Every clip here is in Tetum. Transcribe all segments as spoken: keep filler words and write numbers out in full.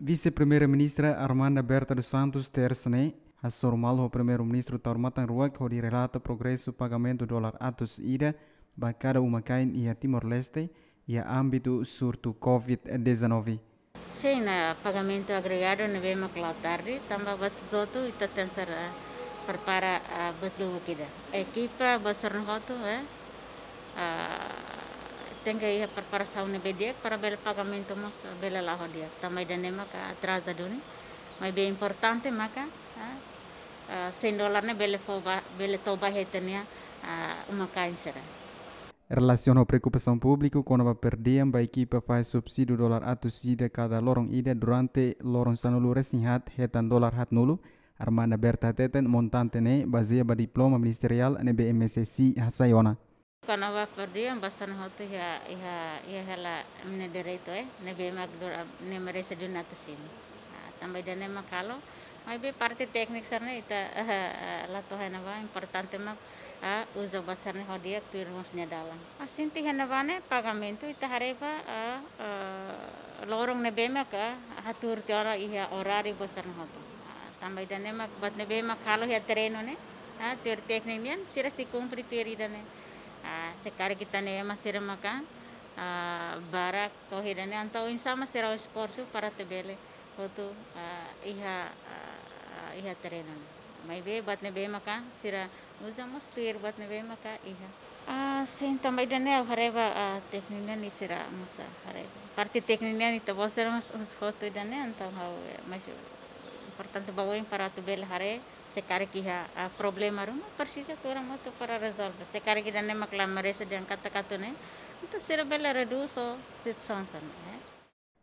Vise-Primeira-Ministra Armanda Berta dos Santos, tersa ne'e, hasoru malu ho Primeiru-Ministru Taur Matan Ruak hodi relata progresu pagamentu dolar atus ida ba kada uma-kain iha Timor-Leste, iha ámbitu surtu covid dezanove. Sin, pagamentu agregadu ne'ebé mak la'o tarde, tanba buat hotu-hotu ita tenke prepara, ah, buat lubuk ida. Ekipa buat sira-ne'e hotu, eh, ah, tenke iha preparasaun ne'ebé di'ak para bele pagamentu mós bele la'o ho di'ak. Tanba ida-ne'e maka atraza duni. Maibé importante maka, ah, ah, cem dólar ne'e bele fó ba, bele to'o ba iha ita-nia, ah, uma-kain sira. Relasiona ho preokupasaun públiku kona-ba per diem ba ekipa fahe subsídiu dolar atus ida kada loron ida durante loron sanulu-resin-haat hetan dolar haatnulu, Armanda Berta hateten montante ne'e bazeia ba diploma ministeriál ne'ebé M S S I hasai ona. Kona-ba per diem ba sira-ne'e hotu iha, iha, iha hela nia direitu, eh, ne'ebé mak dura, ne'e merese duni atu simu. Ah, tanba ida-ne'e mak halo, maibé parte tékniku sira-ne'e ita, eh, eh, la to'o iha ne'ebá, importante mak, ah, uza buat sira-ne'e ho di'ak tuir mós nia dalan. Ah, sente iha ne'ebá ne'e pagamentu ita haree ba, ah, ah, loron ne'ebé mak, ah, hatuur tiha ona iha oráriu buat sira-ne'e hotu. Ah, tanba ida-ne'e mak buat ne'ebé mak halo iha terrenu ne'e, ah, tuir tékniku nian, sira sei kumpre tuir ida-ne'e. Ah, se karik ita-nia ema sira maka, ah, barak to'o iha ida-ne'e, entaun oinsá mak sira esforsu para atu bele hotu, ah, iha, ah, iha terrenu ne'e. Maibé buat ne'ebé maka sira uza mós tuir buat ne'ebé maka iha. Ah, sin, tanba ida-ne'e ha'u haree ba, ah, tékniku nian sira mós haree ba. Parte tékniku nian ita-boot sira mós uza hotu ida-ne'e, entaun ha'u, eh, mais importante ba oin para atu bele haree, se karik iha, ah, problema ruma, presiza tuur hamutuk para rezolve. Se karik ida-ne'e mak la merese dehan katak atu ne'e, entaun sira bele redús situasaun sira-ne'e, eh.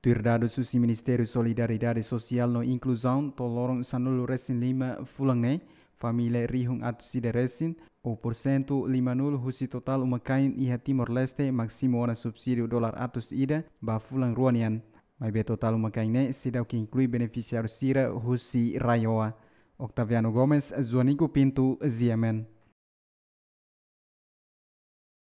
Tuir dadus husi Ministériu Solidariedade Sosiál no Inkluzaun, to'o loron sanulu-resin-lima fulan ne'e, família rihun atus ida resin, ou porsentu limanulu husi totál uma-kain iha Timor-Leste mak simu ona subsídiu dolar atus ida ba fulan rua nian. Maibé totál uma-kain ne'e seidauk inklui benefisiáriu sira husi RAEOA. Octaviano Gomes, Joanico Pinto, G M N.